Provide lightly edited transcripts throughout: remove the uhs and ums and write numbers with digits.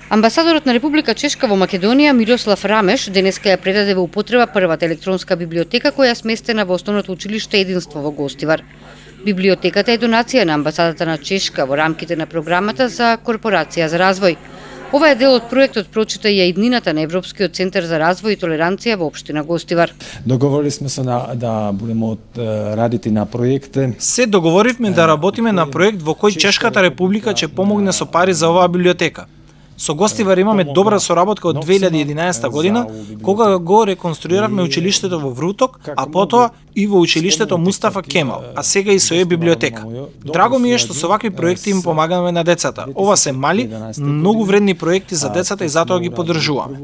Амбасадорот на Република Чешка во Македонија Мирослав Рамеш денеска ја предаде во употреба првата електронска библиотека која е сместена во Основното училиште Единство во Гостивар. Библиотеката е донација на амбасадата на Чешка во рамките на програмата за Корпорација за развој. Ова е дел од проектот Прочита ја иднината на Европскиот центар за развој и толеранција во општина Гостивар. Договорили сме се да будеме радити на проекти. Се договоривме да работиме на проект во кој Чешката република ќе помогне со пари за оваа библиотека. Со Гостивар имаме добра соработка од 2011 година, кога го реконструиравме училиштето во Вруток, а потоа и во училиштето Мустафа Кемал, а сега и со библиотека. Драго ми е што со вакви проекти им помагаме на децата. Ова се мали, многу вредни проекти за децата и затоа ги поддржуваме.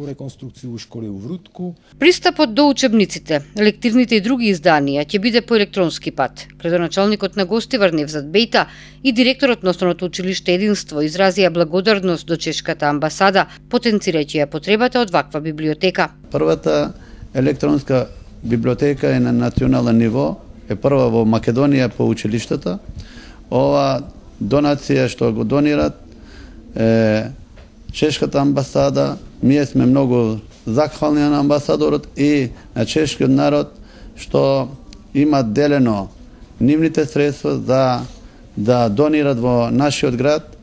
Пристапот до учебниците, лектирните и други изданија ќе биде по електронски пат. Градоначалникот на Гостивар Невзат Бејта и директорот на Основното училиште Единство изразија благодарност до Чешката амбасада, потенцирајќи ја потребата од ваква библиотека. Првата електронска библиотека е на национален ниво, е прва во Македонија по училиштата. Ова донација што го донират Чешката амбасада, ние сме многу захвални на амбасадорот и на чешкиот народ што има делено нивните средства да донират во нашиот град.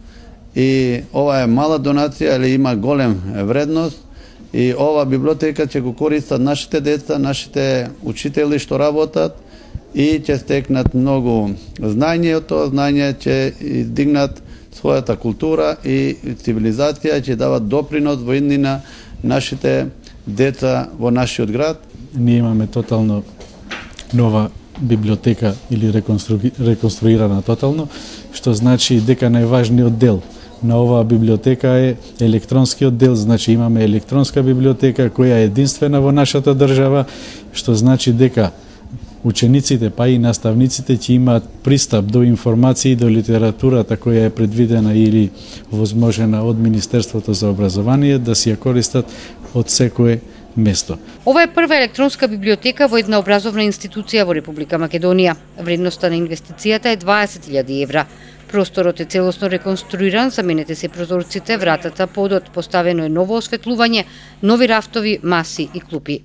И ова е мала донација, или има голем вредност. И ова библиотека ќе го користат нашите деца, нашите учители што работат и ќе стекнат многу знаење, од тоа знаење ќе издигнат својата култура и цивилизација, ќе дават допринос во иднина нашите деца во нашиот град. Ние имаме тотално нова библиотека или реконструирана тотално, што значи дека најважниот дел на оваа библиотека е електронскиот дел, значи имаме електронска библиотека која е единствена во нашата држава, што значи дека учениците па и наставниците ќе имаат пристап до информации, до литературата која е предвидена или возможена од Министерството за образование да си ја користат од секое место. Ова е прва електронска библиотека во една образовна институција во Република Македонија. Вредноста на инвестицијата е 20.000 евра. Просторот е целосно реконструиран, заменете се прозорците, вратата, подот, поставено е ново осветлување, нови рафтови, маси и клупи.